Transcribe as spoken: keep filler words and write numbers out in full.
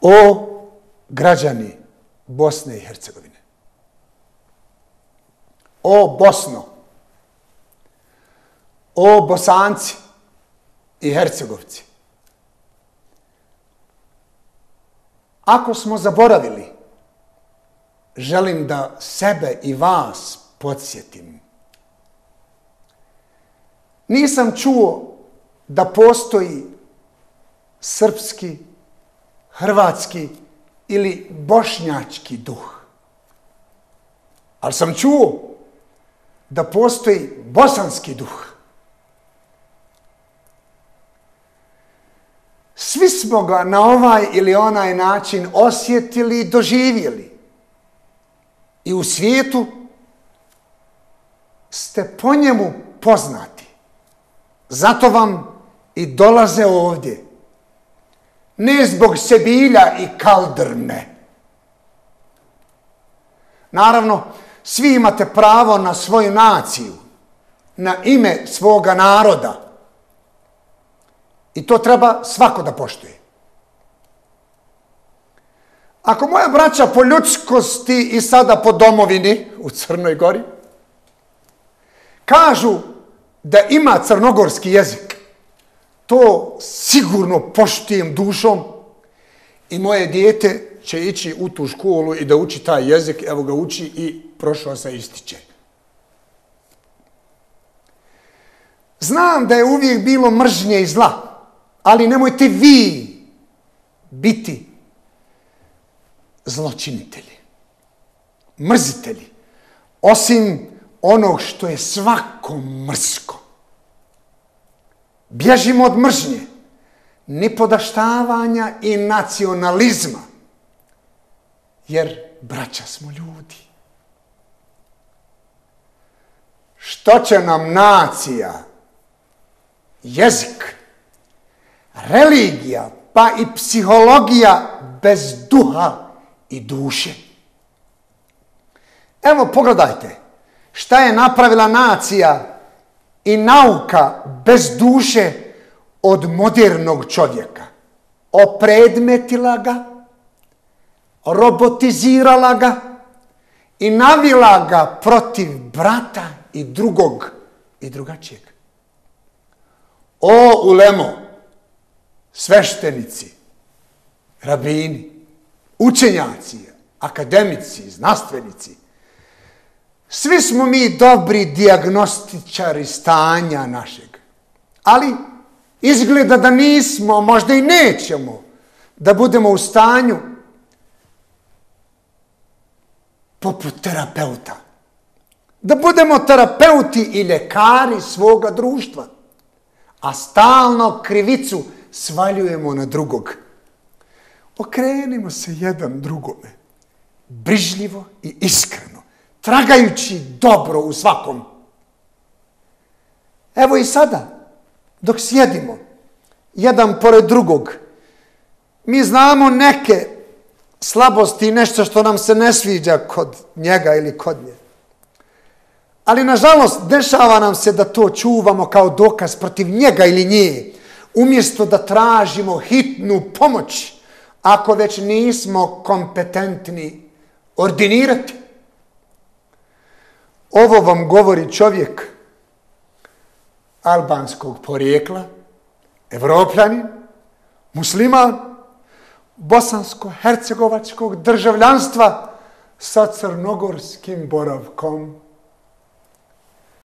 O građani Bosne i Hercegovine, o Bosno, o Bosanci i Hercegovci, ako smo zaboravili, želim da sebe i vas podsjetim. Nisam čuo da postoji srpski, hrvatski ili bošnjački duh. Ali sam čuo da postoji bosanski duh. Svi smo ga na ovaj ili onaj način osjetili i doživjeli. I u svijetu ste po njemu poznati. Zato vam i dolaze ovdje. Ne zbog Sebilja i Kaldrme. Naravno, svi imate pravo na svoju naciju, na ime svoga naroda. I to treba svako da poštuje. Ako moja braća po ljudskosti i sada po domovini u Crnoj Gori kažu da ima crnogorski jezik, to sigurno poštujem dušom i moje dijete će ići u tu školu i da uči taj jezik, evo ga uči i prošao se ističe. Znam da je uvijek bilo mržnje i zla, ali nemojte vi biti zločinitelji, mrzitelji, osim onog što je svako mrsko. Bježimo od mržnje, nipodaštavanja i nacionalizma, jer braća smo ljudi. Što će nam nacija, jezik, religija, pa i psihologija bez duha i duše? Evo pogledajte šta je napravila nacija i nauka bez duše od modernog čovjeka. Opredmetila ga, robotizirala ga i navila ga protiv brata i drugog i drugačijeg. O ulemo, sveštenici, rabini, učenjaci, akademici, znanstvenici, svi smo mi dobri dijagnostičari stanja našeg. Ali izgleda da nismo, možda i nećemo, da budemo u stanju poput terapeuta. Da budemo terapeuti i ljekari svoga društva. A stalno krivicu svaljujemo na drugog. Okrenimo se jedan drugome. Brižljivo i iskreno. Tragajući dobro u svakom. Evo i sada, dok sjedimo, jedan pored drugog, mi znamo neke slabosti i nešto što nam se ne sviđa kod njega ili kod nje. Ali, nažalost, dešava nam se da to čuvamo kao dokaz protiv njega ili nje, umjesto da tražimo hitnu pomoć, ako već nismo kompetentni ordinirati. Ovo vam govori čovjek albanskog porijekla, Evropljanin, musliman, bosansko-hercegovačkog državljanstva sa crnogorskim boravkom.